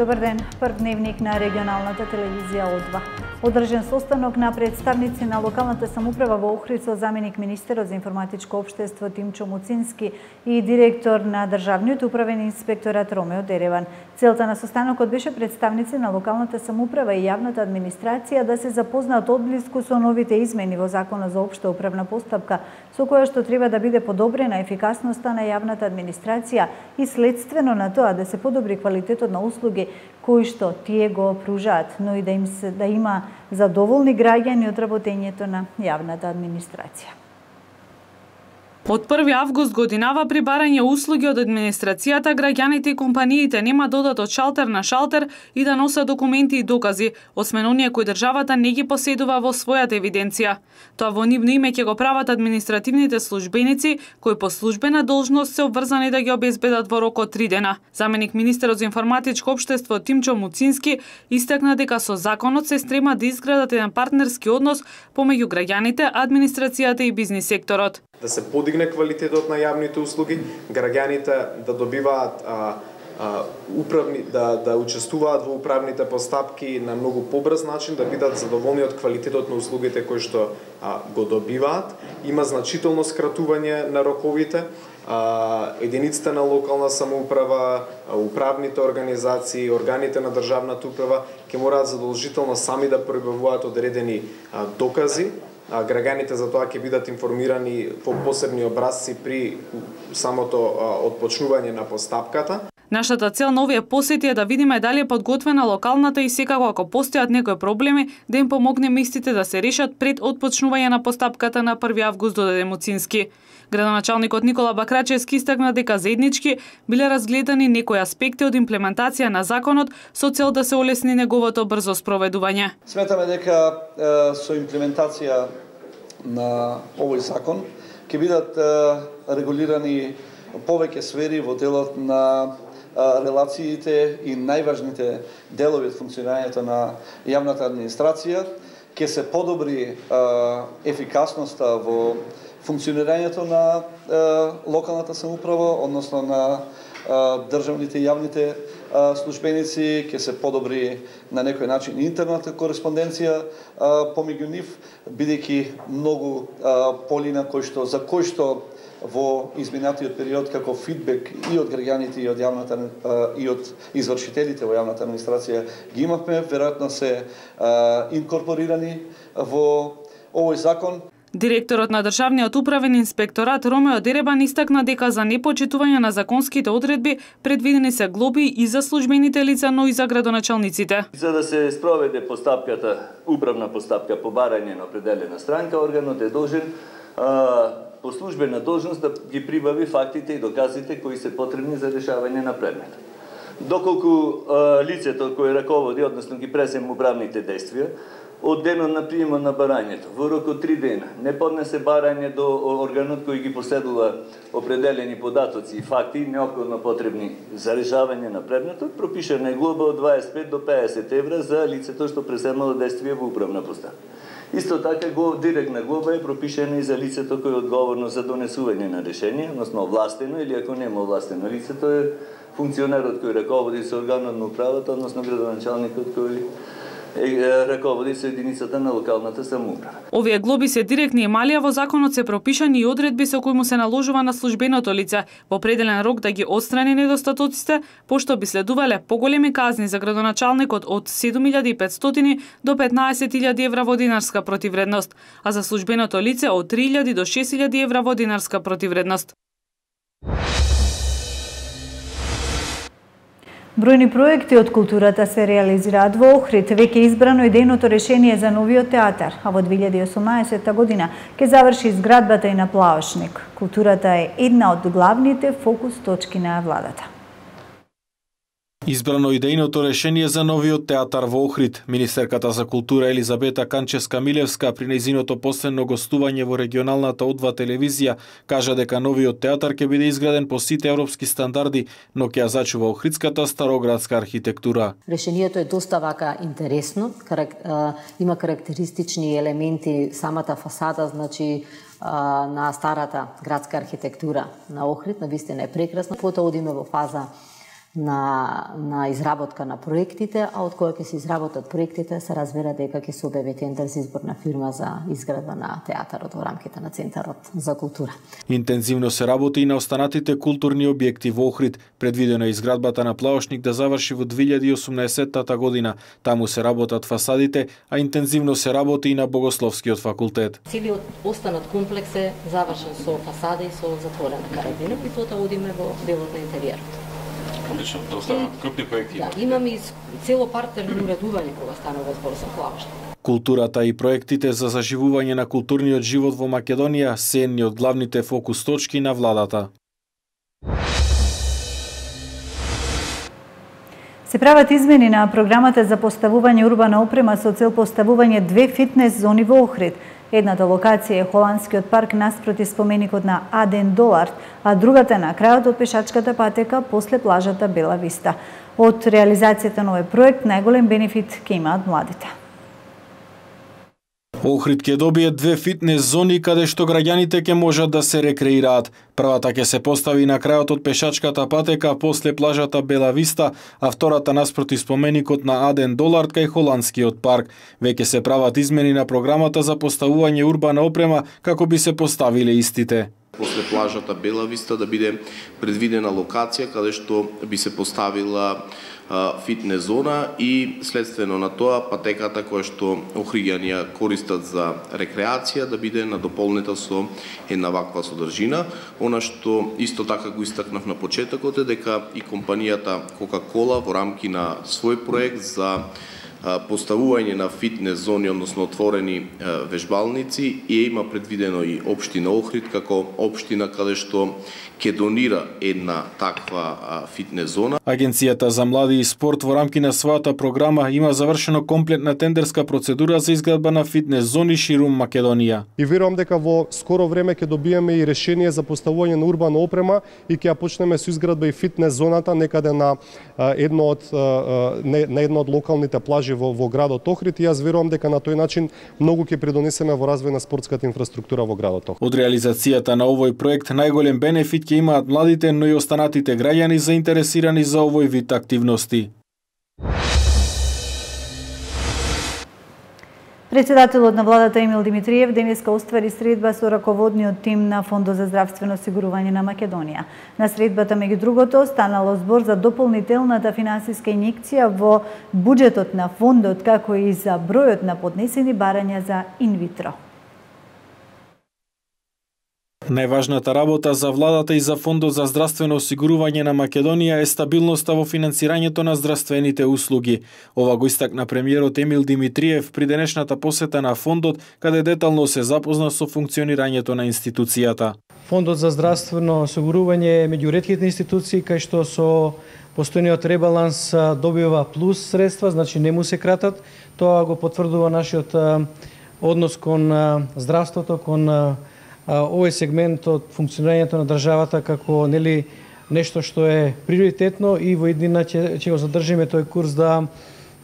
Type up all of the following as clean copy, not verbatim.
Добар ден, прв дневник на регионалната телевизија О2. Одржан состанок на представници на локалната самоуправа во Охрид со заменик министерот за информатичко општество Тимчо Муцински и директор на државниот управен инспекторат Ромео Дереван. Целта на состанокот беше представници на локалната самоуправа и јавната администрација да се запознаат одблиску со новите измени во Законот за општа управна постапка, со која што треба да биде подобрена ефикасноста на јавната администрација и следствено на тоа да се подобри квалитетот на услуги кои што тие го пружаат, но и да има задоволни граѓани од работењето на јавната администрација. Од 1 август годинава при барање услуги од администрацијата, граѓаните и компаниите нема да одат од шалтер на шалтер и да носат документи и докази, освен оние кои државата не ги поседува во својата евиденција. Тоа во нивно име ќе го прават административните службеници, кои по службена должност се обврзани да ги обезбедат во рок од 3 дена. Заменик министерот за информатичко општество Тимчо Муцински истакна дека со законот се стрема да изградат еден партнерски однос помеѓу граѓаните, администрацијата и бизнис секторот. Да се подигне квалитетот на јавните услуги, граѓаните да добиваат да учествуваат во управните постапки на многу побрз начин, да бидат задоволни од квалитетот на услугите кои што го добиваат. Има значително скратување на роковите. Единиците на локална самоуправа, управните организации, органите на државната управа ќе мораат задолжително сами да прибавуваат одредени докази. Граѓаните за тоа ќе бидат информирани по посебни образци при самото отпочнување на постапката. Нашата цел на овие посети е да видиме дали е подготвена локалната и секако ако постојат некои проблеми, да им помогнеме истите да се решат пред отпочнување на постапката на 1 август, додаде Муцински. Градоначалникот Никола Бакрачевски истакна дека заеднички биле разгледани некои аспекти од имплементација на законот со цел да се олесни неговото брзо спроведување. Сметаме дека со имплементација на овој закон ќе бидат регулирани повеќе сфери во делот на релациите и најважните делови од функционирањето на јавната администрација, ќе се подобри ефикасноста во функционирањето на локалната самоуправа, односно на државните и јавните службеници, ќе се подобри на некој начин интерната кореспонденција помеѓу нив, бидејќи многу полина за кои што во изминатиот период како фидбек и од граѓаните и од јавната и од извршителите во јавната администрација ги имавме, веројатно се инкорпорирани во овој закон. Директорот на државниот управен инспекторат Ромео Дереван истакна дека за непочитување на законските одредби предвидени се глоби и за службените лица, но и за градоначалниците. За да се спроведе постапката, управна постапка по барање на определена странка, органот е должен по службена должност да ги прибави фактите и доказите кои се потребни за решавање на предмет. Доколку лицето кое раководи, односно ги презема управните действија, од денот на приемот на барањето, во рок од 3 дена, не поднесе барање до органот кој ги поседува определени податоци и факти неопходно потребни за решавање на предметот, пропишана е глоба од 25 до 50 евра за лицето што преземало действие во управна постапка. Исто така директна глоба е пропишена и за лицето кој е одговорно за донесување на решение, односно овластено или ако нема овластено лицето е функционерот кој раководи со органот на управата, односно градоначалникот кој раководи со единицата на локалната самоуправа. Овие глоби се директни и мали, а во законот се пропишани и одредби со кои му се наложува на службеното лице во определен рок да ги отстрани недостатоците, пошто би следувале поголеми казни за градоначалникот од 7.500 до 15.000 евра во динарска противредност, а за службеното лице од 3.000 до 6.000 евра во динарска противредност. Бројни проекти од културата се реализираат во Охрид. Веќе избрано идејното решение за новиот театар, а во 2018 година ќе заврши изградбата и на Плаошник. Културата е една од главните фокус точки на владата. Избрано идејното решение за новиот театар во Охрид. Министерката за култура Елизабета Канчевска-Милевска при нејзиното последно гостување во регионалната О2 телевизија кажа дека новиот театар ќе биде изграден по сите европски стандарди, но ќе ја зачува охридската староградска архитектура. Решението е доста вака интересно, има карактеристични елементи самата фасада, значи на старата градска архитектура на Охрид, навистина е прекрасна. Потоа одиме во фаза на изработка на проектите, а од кога ќе се изработат проектите се разбира дека ќе се објави тендер за избор на фирма за изградба на театарот во рамките на Центарот за култура. Интензивно се работи и на останатите културни објекти во Охрид. Предвидено е изградбата на плаошник да заврши во 2018 година. Таму се работат фасадите, а интензивно се работи и на Богословскиот факултет. Целиот останат комплекс е завршен со фасада и со затворена карабина, и тоа одиме во делот на интериерот. Одлично, да останат крупни проекти. Да, имаме и цело партерно уредување кога станува збор за плаошник. Културата и проектите за заживување на културниот живот во Македонија се едни од главните фокус точки на владата. Се прават измени на програмата за поставување урбана опрема со цел поставување 2 фитнес зони во Охрид. Едната локација е Холандскиот парк наспроти споменикот на Аден Долард, а другата е на крајот од пешачката патека после плажата Бела Виста. Од реализацијата на овој проект најголем бенефит ќе имаат младите. Охрид ќе добие 2 фитнес зони каде што граѓаните ќе можат да се рекреираат. Првата ќе се постави на крајот од пешачката патека после плажата Бела Виста, а втората наспроти споменикот на Аден Долард кај Холандскиот парк. Веќе се прават измени на програмата за поставување урбана опрема како би се поставиле истите. После плажата Бела Виста да биде предвидена локација каде што би се поставила фитнес зона и следствено на тоа патеката која што охриѓани ја користат за рекреација да биде надополнета со една ваква содржина. Она што исто така го истакнав на почетокот е дека и компанијата Кока-Кола во рамки на свој проект за поставување на фитнес зони, односно отворени вежбалници, има предвидено и општина Охрид како општина каде што ќе донира една таква фитнес зона. Агенцијата за млади и спорт во рамки на својата програма има завршено комплетна тендерска процедура за изградба на фитнес зони ширум Македонија. И верувам дека во скоро време ќе добиеме и решение за поставување на урбана опрема и ќе ја почнеме со изградба и фитнес зоната некаде на една од локалните плажи во градот Охрид, и јас верувам дека на тој начин многу ќе придонесеме во развој на спортската инфраструктура во градот Охрид. Од реализацијата на овој проект најголем бенефит ќе имаат младите, но и останатите граѓани заинтересирани за овој вид активности. Председателот на владата Емил Димитриев денеска оствари средба со раководниот тим на Фондот за здравствено осигурување на Македонија. На средбата, меѓу другото, станало збор за дополнителната финансиска инјекција во буџетот на фондот, како и за бројот на поднесени барања за инвитро. Најважната работа за владата и за Фондот за здравствено осигурување на Македонија е стабилноста во финансирањето на здравствените услуги. Ова го истакна премиерот Емил Димитриев при денешната посета на фондот, каде детално се запозна со функционирањето на институцијата. Фондот за здравствено осигурување е меѓу ретките институции кај што со постојниот ребаланс добива плюс средства, значи не му се кратат. Тоа го потврдува нашиот однос кон здравството, кон овој сегмент од функционирањето на државата како нешто што е приоритетно, и во иднина ќе го задржиме тој курс да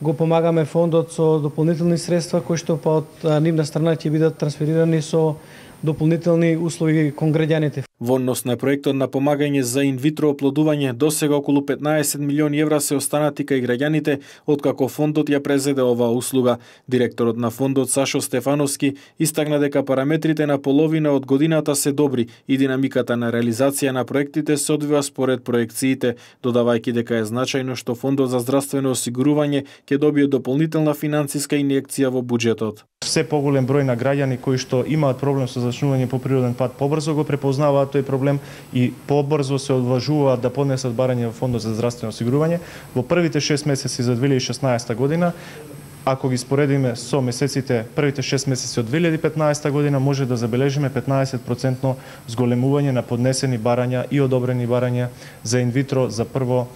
го помагаме фондот со дополнителни средства кои што па од нивна страна ќе бидат трансферирани со дополнителни услуги кон граѓаните. Во однос на проектот на помагање за инвитро оплодување, досега околу 15 милиони евра се останати кај граѓаните, откако фондот ја презеде оваа услуга. Директорот на фондот Сашо Стефановски истакна дека параметрите на половина од годината се добри и динамиката на реализација на проектите се одвива според проекциите, додавајќи дека е значајно што Фондот за здравствено осигурување ќе добие дополнителна финансиска инјекција во буџетот. Все поголем број на граѓани кои што имаат проблем со зачнување по природен пат побрзо го препознаваат тој проблем и побрзо се одважуваат да поднесат барање во Фондот за здравствено осигурување. Во првите 6 месеци за 2016 година, ако ги споредиме со месеците, првите 6 месеци од 2015 година, може да забележиме 15% зголемување на поднесени барања и одобрени барања за инвитро за прво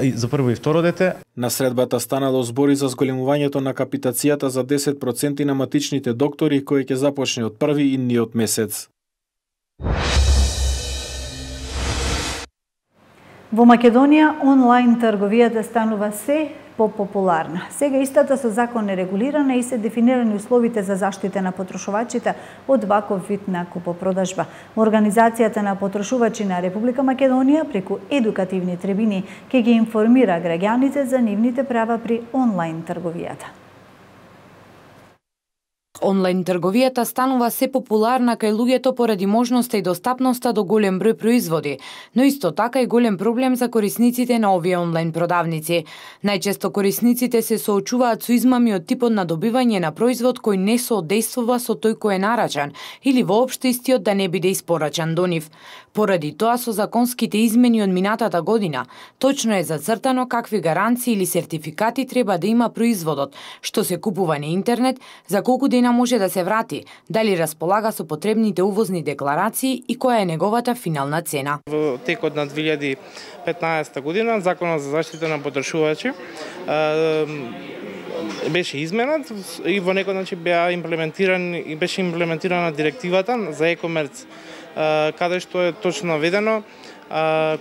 и второ дете. На средбата станало збори за зголемувањето на капитацијата за 10% на матичните доктори, кој ќе започне од први идниот месец. Во Македонија онлайн трговијата станува се попопуларна. Сега истата со закон е регулирана и се дефинирани условите за заштита на потрошувачите од ваков вид на купопродажба. Организацијата на потрошувачи на Република Македонија преку едукативни трибини ќе ги информира граѓаните за нивните права при онлайн трговијата. Онлайн трговијата станува се популарна кај луѓето поради можноста и достапноста до голем број производи, но исто така и голем проблем за корисниците на овие онлайн продавници. Најчесто корисниците се соочуваат со измами од типот на добивање на производ кој не соодействува со тој кој е нарачан или воопшто истиот да не биде испорачан до нив. Поради тоа со законските измени од минатата година, точно е зацртано какви гаранции или сертификати треба да има производот, што се купува на интернет, за колку дена може да се врати, дали располага со потребните увозни декларации и која е неговата финална цена. Во текот на 2015 година Законот за заштита на потрошувачи беше изменат и во некој начин беше имплементирана директивата за e-commerce, каде што е точно наведено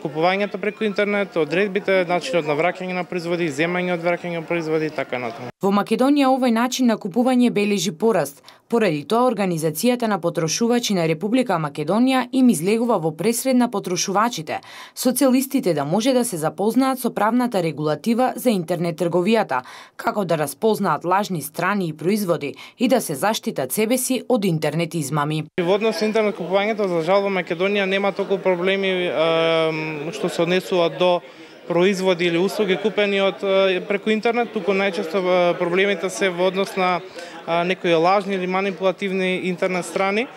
купувањето преку интернет, одредбите, начинот на враќање на производи, земање од враќање на производи и така натаму. Во Македонија овој начин на купување бележи пораст. Поради тоа Организацијата на потрошувачи на Република Македонија им излегува во пресред на потрошувачите, со цел истите да може да се запознаат со правната регулатива за интернет трговијата, како да распознаат лажни страни и производи и да се заштитат себе си од интернет измами. Во однос на интернет купувањето, за жал во Македонија нема толку проблеми што се однесуваат до производи или услуги купени преку интернет, туку најчесто проблемите се во однос на некои лажни или манипулативни интернет страни,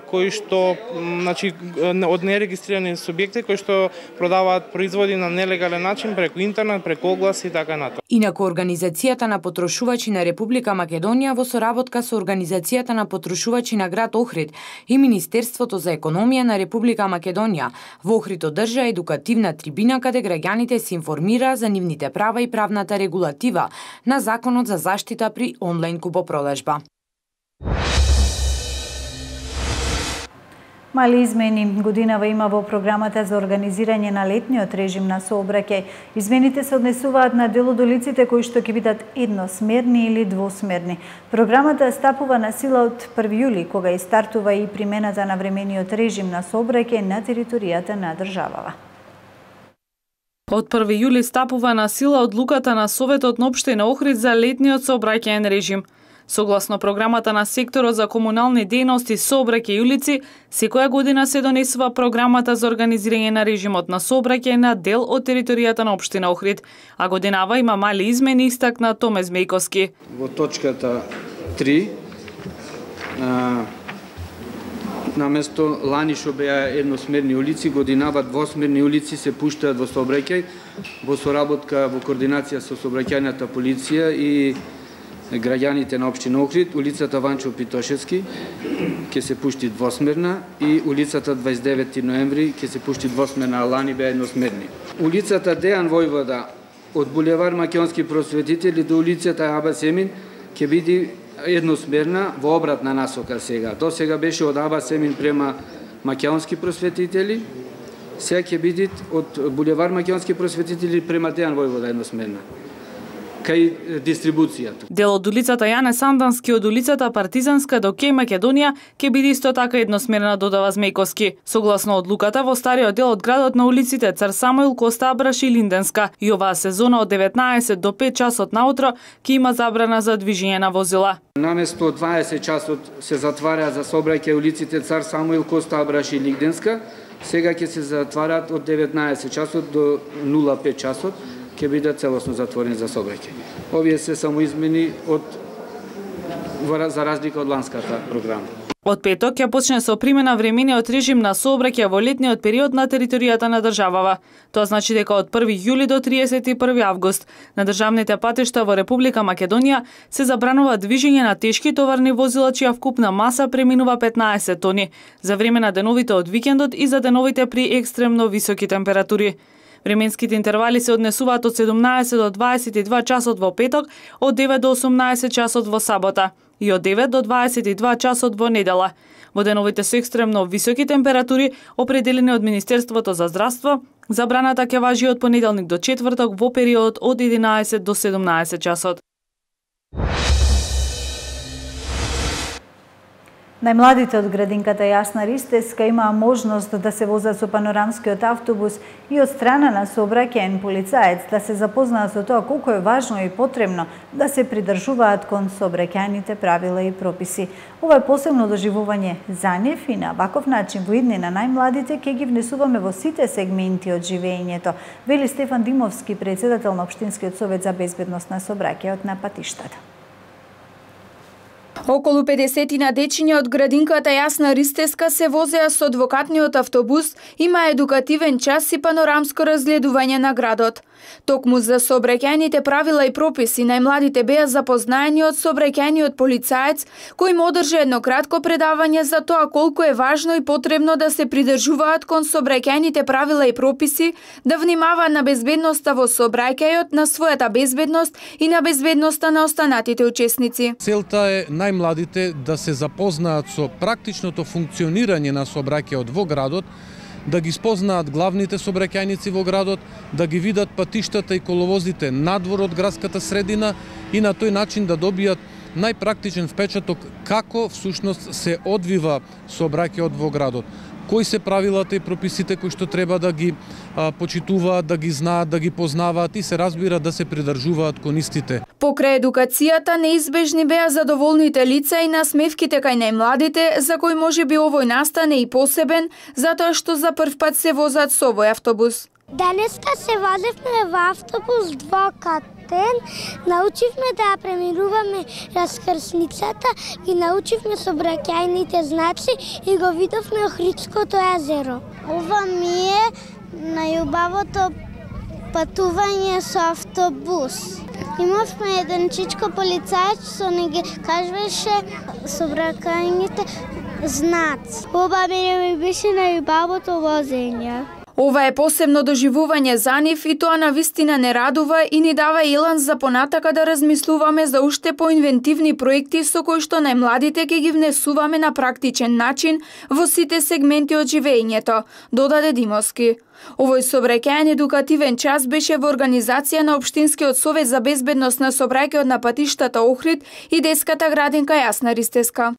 кои што, значи, од нерегистрирани субјекти кои што продаваат производи на нелегален начин преку интернет, преку огласи и така натаму. Инаку Организацијата на потрошувачи на Република Македонија во соработка со Организацијата на потрошувачи на град Охрид и Министерството за економија на Република Македонија во Охрид одржа едукативна трибина каде граѓаните се информира за нивните права и правната регулатива на Законот за заштита при онлайн купопродажба. Мали измени годинава има во програмата за организирање на летниот режим на сообраќај. Измените се однесуваат на дел од улиците кои што ќе бидат едносмерни или двосмерни. Програмата стапува на сила од 1 јули, кога и стартува и примената на времениот режим на сообраќај на територијата на државава. Од 1 јули стапува на сила одлуката на Советот на општина Охрид за летниот сообраќајен режим. Согласно програмата на секторот за комунални дејности, сообраќај и улици, секоја година се донесува програмата за организирање на режимот на сообраќај на дел од територијата на општина Охрид, а годинава има мали измени, истакна Томе Змејковски. Во точката 3 наместо лани што беа едносмерни улици, годинава двосмерни улици се пуштаат во сообраќај во соработка во координација со сообраќајната полиција и граѓаните на општина Охрид. Улицата Ванчо Питошевски ќе се пушти двосмерна и улицата 29 ноември ќе се пушти двосмерна, а лани беа едносмерни. Улицата Дејан Војвода од булевар Македонски просветители до улицата Аба Семин ќе биде едносмерна во обратна насока сега. До сега беше од Аба Семин према Македонски просветители, сега ќе биде од булевар Македонски просветители према Дејан Војвода едносмерна кај дистрибуцијата. Дел од улицата Јане Сандански од улицата Партизанска до Кеј Македонија ќе биде исто така едносмерна, додава Змејковски. Согласно одлуката, во стариот дел од градот на улиците Цар Самуил, Коста Абраш и Линденска и оваа сезона од 19 до 5 часот наутро ќе има забрана за движење на возила. Наместо 20 часот се затвара за сообраќај улиците Цар Самуил, Коста Абраш и Линденска, сега ќе се затварат од 19 часот до 05 часот, ќе биде целосно затворени за сообраќај. Овие се само измени за разлика од ланската програма. Од петок ќе почне со примена времениот режим на сообраќај во летниот период на територијата на државава. Тоа значи дека од 1 јули до 31 август на државните патишта во Република Македонија се забранува движење на тешки товарни возила чија вкупна маса преминува 15 тони за време на деновите од викендот и за деновите при екстремно високи температури. Временските интервали се однесуваат од 17 до 22 часот во петок, од 9 до 18 часот во сабота. и од 9 до 22 часот во недела. Во деновите со екстремно високи температури, определени од Министерството за здравство, забраната ќе важи од понеделник до четврток во период од 11 до 17 часот. Најмладите од градинката Јасна Ристеска имаа можност да се возат со панорамскиот автобус и од страна на сообраќаен полицаец да се запознаат со тоа колку е важно и потребно да се придржуваат кон сообраќајните правила и прописи. Ова е посебно доживување за нив и на ваков начин во иднина најмладите ќе ги внесуваме во сите сегменти од живеењето, вели Стефан Димовски, председател на Општинскиот совет за безбедност на сообраќајот на патиштата. Околу 50 дечиња од градинката Јасна Ристеска се возеа со двокатниот автобус, има едукативен час и панорамско разгледување на градот. Токму за сообраќајните правила и прописи, најмладите беа запознаени од сообраќајниот полицаец, кој им одржа едно кратко предавање за тоа колку е важно и потребно да се придржуваат кон сообраќајните правила и прописи, да внимаваат на безбедноста во сообраќајот, на својата безбедност и на безбедноста на останатите учесници. Целта е најмладите да се запознаат со практичното функционирање на сообраќајот во градот, да ги спознаат главните сообраќајници во градот, да ги видат патиштата и коловозите надвор од градската средина и на тој начин да добијат најпрактичен впечаток како всушност се одвива сообраќајот во градот. Кои се правилата и прописите кои што треба да ги почитуваат, да ги знаат, да ги познаваат и се разбира да се придржуваат кон истите. Покрај едукацијата неизбежни беа задоволните лица и насмевките кај најмладите, за кои можеби овој настане и посебен, затоа што за прв пат се возат со овој автобус. Денеска се возевме во автобус двокатен, научивме да ја преминуваме раскрсницата и научивме сообраќајните знаци и го видовме Охридското езеро. Ова ми е најубавото патување со автобус. Имавме еден чичко полицаец што не ги кажуваше сообраќајните знаци. Ова ми беше најубавото возење. Ова е посебно доживување за нив и тоа навистина не радува и ни дава елан за понатака да размислуваме за уште поинвентивни проекти со кои што најмладите ќе ги внесуваме на практичен начин во сите сегменти од живеењето, додаде Димовски. Овој сообраќајен едукативен час беше во организација на Општинскиот совет за безбедност на сообраќајот на патиштата Охрид и детската градинка Јасна Ристеска.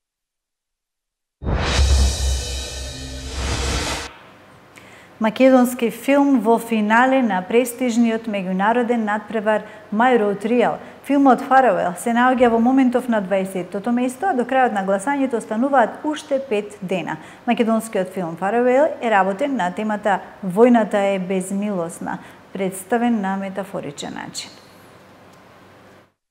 Македонски филм во финале на престижниот меѓународен надпревар My Road Trial. Филмот Farewell се наоѓа во моментов на 20-тото место, а до крајот на гласањето остануваат уште 5 дена. Македонскиот филм Farewell е работен на темата Војната е безмилосна, представен на метафоричен начин.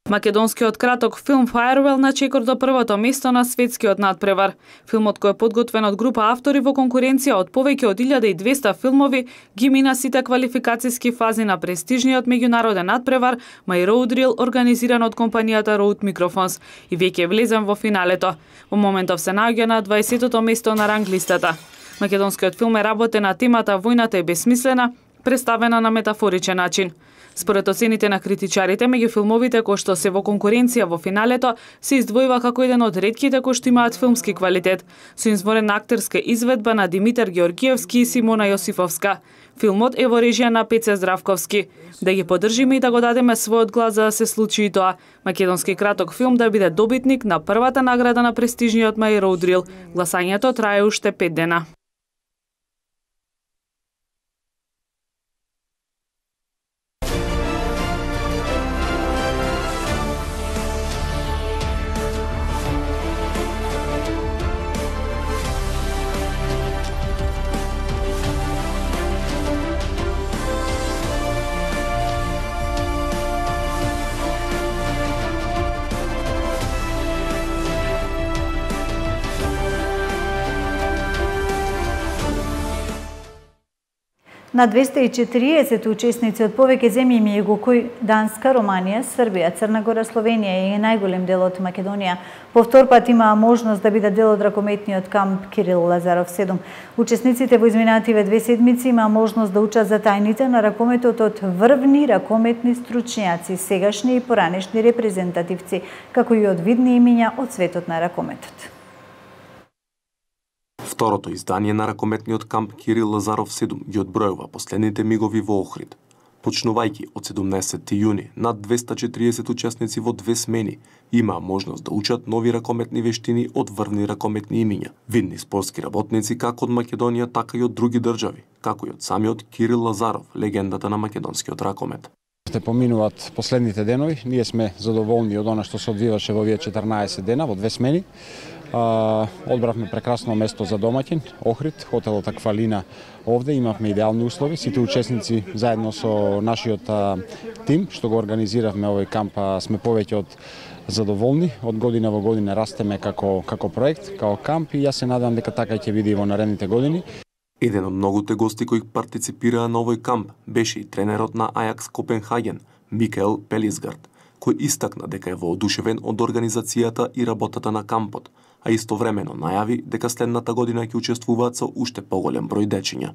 Македонскиот краток филм Farewell на чекор до првото место на светскиот надпревар. Филмот кој е подготвен од група автори во конкуренција од повеќе од 1200 филмови ги мина сите квалификацијски фази на престижниот меѓународен надпревар My Road Reel, организиран од компанијата Road Microphones и веќе влезен во финалето. Во моментов се наоѓа на 20-тото место на ранглистата. Македонскиот филм е работен на темата Војната е безсмислена, представена на метафоричен начин. Според оцените на критичарите, меѓу филмовите кои што се во конкуренција во финалето, се издвојува како еден од ретките кои што имаат филмски квалитет, со изворена актерска изведба на Димитар Георгиевски и Симона Јосифовска. Филмот е во режија на Пеце Здравковски. Да ги поддржиме и да го дадеме својот глас за да се случи и тоа. Македонски краток филм да биде добитник на првата награда на престижниот My Road Reel. Гласањето трае уште 5 дена. На 240 учесници од повеќе земји го кои Данска, Романија, Србија, Црна Гора, Словенија и најголем дел од Македонија по втор пат имаа можност да бидат дел од ракометниот камп Кирил Лазаров 7. Учесниците во изминативе 2 седмици имаа можност да учат за тајните на ракометот од врвни ракометни стручњаци, сегашни и поранешни репрезентативци, како и од видни имиња од светот на ракометот. Второто издание на ракометниот камп Кирил Лазаров 7 ги одбројува последните мигови во Охрид. Почнувајќи од 17 јуни, над 240 учесници во 2 смени имаа можност да учат нови ракометни вештини од врвни ракометни имиња, видни спортски работници како од Македонија, така и од други држави, како и од самиот Кирил Лазаров, легендата на македонскиот ракомет. Те поминуваат последните денови, ние сме задоволни од она што се одвиваше во овие 14 дена во 2 смени. Одбравме прекрасно место за домаќин, Охрид, хотелот Аквалина овде, имавме идеални услови, сите учесници заедно со нашиот тим што го организиравме овој камп сме повеќе од задоволни, од година во година растеме како проект, како камп и јас се надевам дека така ќе биде и во наредните години. Еден од многуте гости кои партиципираа на овој камп беше и тренерот на Ајакс Копенхаген, Микаел Пелисгард, кој истакна дека е воодушевен од организацијата и работата на кампот, а истовремено најави дека следната година ќе учествуваат со уште поголем број дечиња.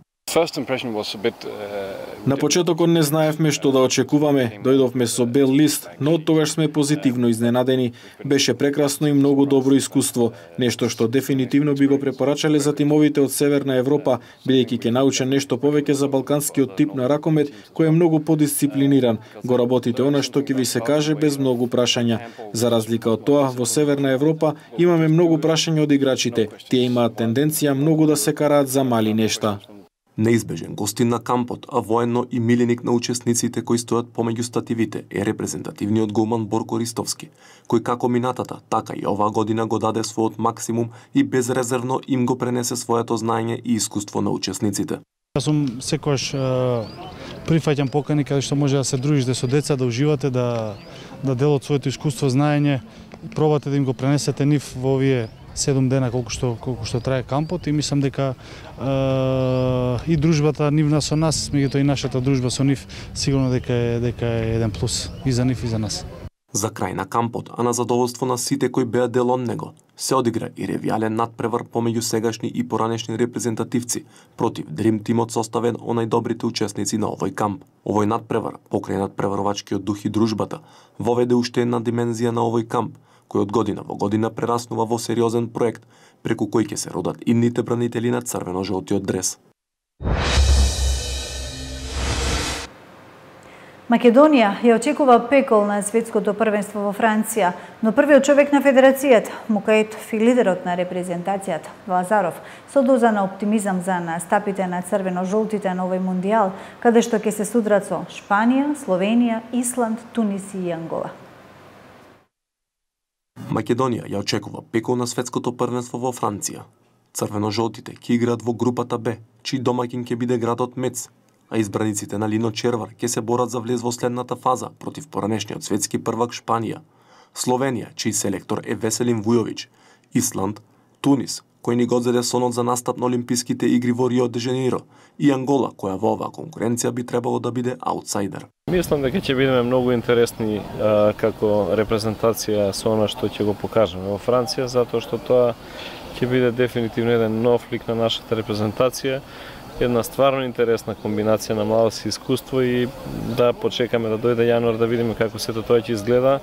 На почетокот не знаевме што да очекуваме, дојдовме со бел лист, но од тогаш сме позитивно изненадени. Беше прекрасно и многу добро искуство, нешто што дефинитивно би го препорачале за тимовите од Северна Европа, бидејќи ќе научат нешто повеќе за балканскиот тип на ракомет, кој е многу подисциплиниран. Го работите она што ќе ви се каже без многу прашања. За разлика од тоа, во Северна Европа имаме многу прашања од играчите. Тие имаат тенденција многу да се караат за мали нешта. Неизбежен гостин на кампот, а военно и миленик на учесниците кои стојат помеѓу стативите е репрезентативниот голман Борко Ристовски, кој како минатата, така и оваа година го даде својот максимум и безрезервно им го пренесе своето знаење и искуство на учесниците. Јас сум секогаш прифаќам покани каде што може да се дружите со деца, да уживате, да делат своето искуство, знаење, пробате да им го пренесете нив во овие 7 дена колку што трае кампот и мислам дека и дружбата нивна со нас, меѓутоа и нашата дружба со нив сигурно дека е еден плюс и за нив и за нас. За крај на кампот, а на задоволство на сите кои беа дел од него, се одигра и ревијален надпревар помеѓу сегашни и поранешни репрезентативци против Дрим тимот составен од најдобрите учесници на овој камп. Овој надпревар, покрај надпреварувачкиот дух и дружбата, воведе уште една димензија на овој камп, кој од година во година прераснува во сериозен проект, преку кој ќе се родат идните бранители на црвено-жолтиот дрес. Македонија ја очекува пекол на светското првенство во Франција, но првиот човек на федерацијата, Мукаетов и лидерот на репрезентацијата, Лазаров, со доза на оптимизам за настапите на црвено-жолтите на овој мондијал, каде што ќе се судрат со Шпанија, Словенија, Исланд, Тунис и Ангола. Македонија ја очекува пекол на светското првенство во Франција. Црвено-жолтите ќе играат во групата Б, чиј домаќин ќе биде градот Мец, а избраниците на Лино Червар ќе се борат за влез во следната фаза против поранешниот светски првак Шпанија, Словенија, чиј селектор е Веселин Вујовиќ, Исланд, Тунис, кој ни го зеде сонот за настап на Олимписките игри во Рио де Жанеиро, и Ангола, која во оваа конкуренција би требало да биде аутсайдер. Мислам дека ќе бидеме многу интересни како репрезентација со она што ќе го покажеме во Франција, затоа што тоа ќе биде дефинитивно еден нов лик на нашата репрезентација, една стварно интересна комбинација на младост и искуство и да почекаме да дојде јануар да видиме како сето тоа ќе изгледа,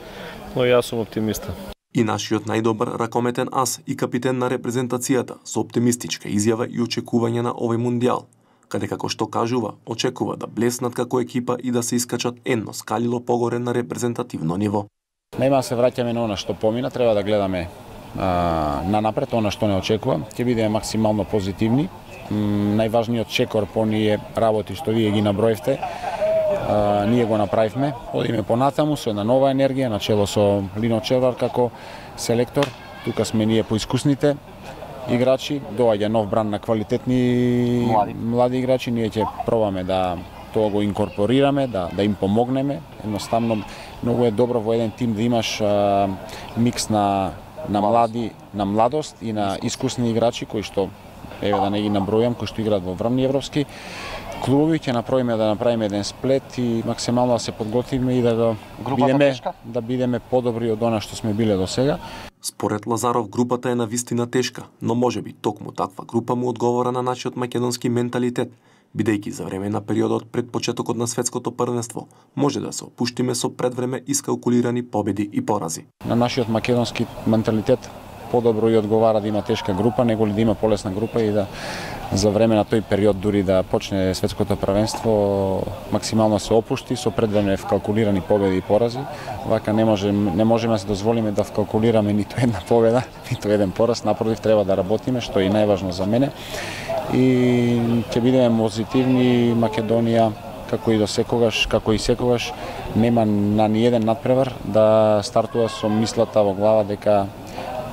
но јас сум оптимиста. И нашиот најдобар ракометен ас и капитен на репрезентацијата со оптимистичка изјава и очекување на овој мондијал, каде како што кажува, очекува да блеснат како екипа и да се искачат едно скалило погоре на репрезентативно ниво. Нема да се враќаме на она што помина, треба да гледаме на напред, она што не очекува, ќе бидеме максимално позитивни. Најважниот чекор по ние работи што вие ги наброевте, ние го направивме, одиме понатаму со една нова енергија, начело со Лино Червар како селектор, тука сме ние поискусните играчи, доаѓа нов бран на квалитетни млади играчи, ние ќе пробаме да тоа го инкорпорираме, да им помогнеме, едноставно многу е добро во еден тим да имаш микс на младост и на искусни играчи кои што еве да не ги набројам, кои што играат во врвни европски клубови, ќе направиме еден сплет и максимално да се подготвиме и да бидеме подобри од она што сме биле до сега. Според Лазаров, групата е навистина тешка, но можеби токму таква група му одговора на нашиот македонски менталитет, бидејќи за време на периодот пред почетокот на светското првенство може да се опуштиме со предвреме искалкулирани победи и порази. На нашиот македонски менталитет подобро и одговара да има тешка група, него ли да има полесна група и да за време на тој период дури да почне светското првенство максимално се опушти со предвреме вкалкулирани победи и порази. Вака не можеме да се дозволиме да вкалкулираме ниту една победа, ниту еден пораз, напротив треба да работиме, што е најважно за мене. И ќе бидеме позитивни. Македонија како и секогаш нема на ниеден надпревар да стартува со мислата во глава дека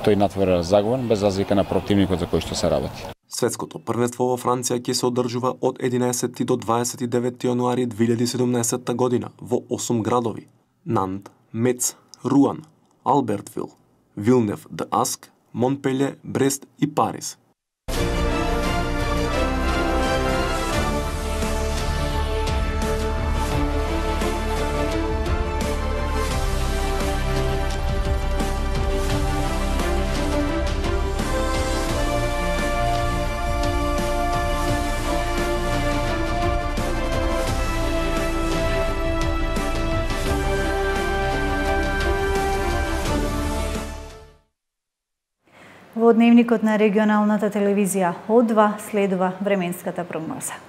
тој надпревар е загубен без разлика на противникот за кој што се работи. Светското првенство во Франција ќе се одржува од 11 до 29 јануари 2017 година во 8 градови: Нант, Мец, Руан, Албертвил, Вилнев де Аск, Монпелје, Брест и Париз. Во дневникот на регионалната телевизија О2 следува временската прогноза.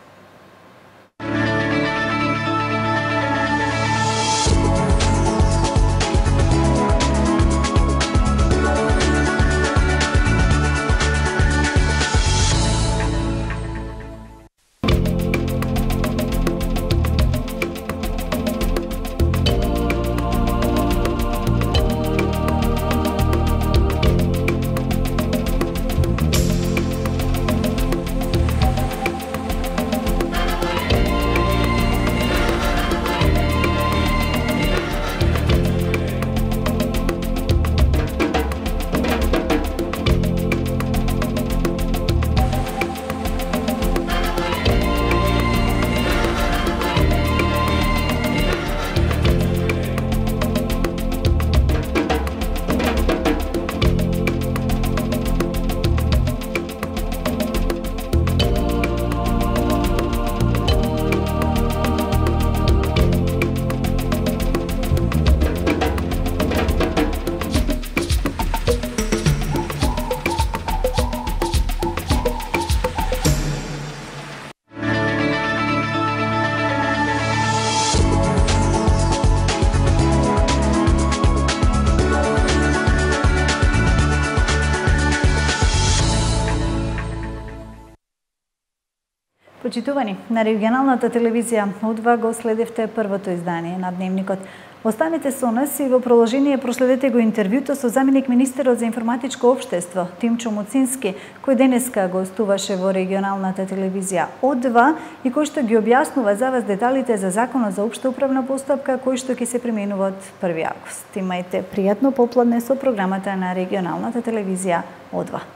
Почитувани, на регионалната телевизија О2 го следевте првото издание на Дневникот. Останете со нас и во продолжение проследете го интервјуто со заменик министерот за информатичко општество Тимчо Муцински, кој денеска гостуваше во регионалната телевизија О2 и кој што ги објаснува за вас деталите за Законот за општа управна постапка кој што ќе се применува од 1 август. Имајте пријатно попладне со програмата на регионалната телевизија О2.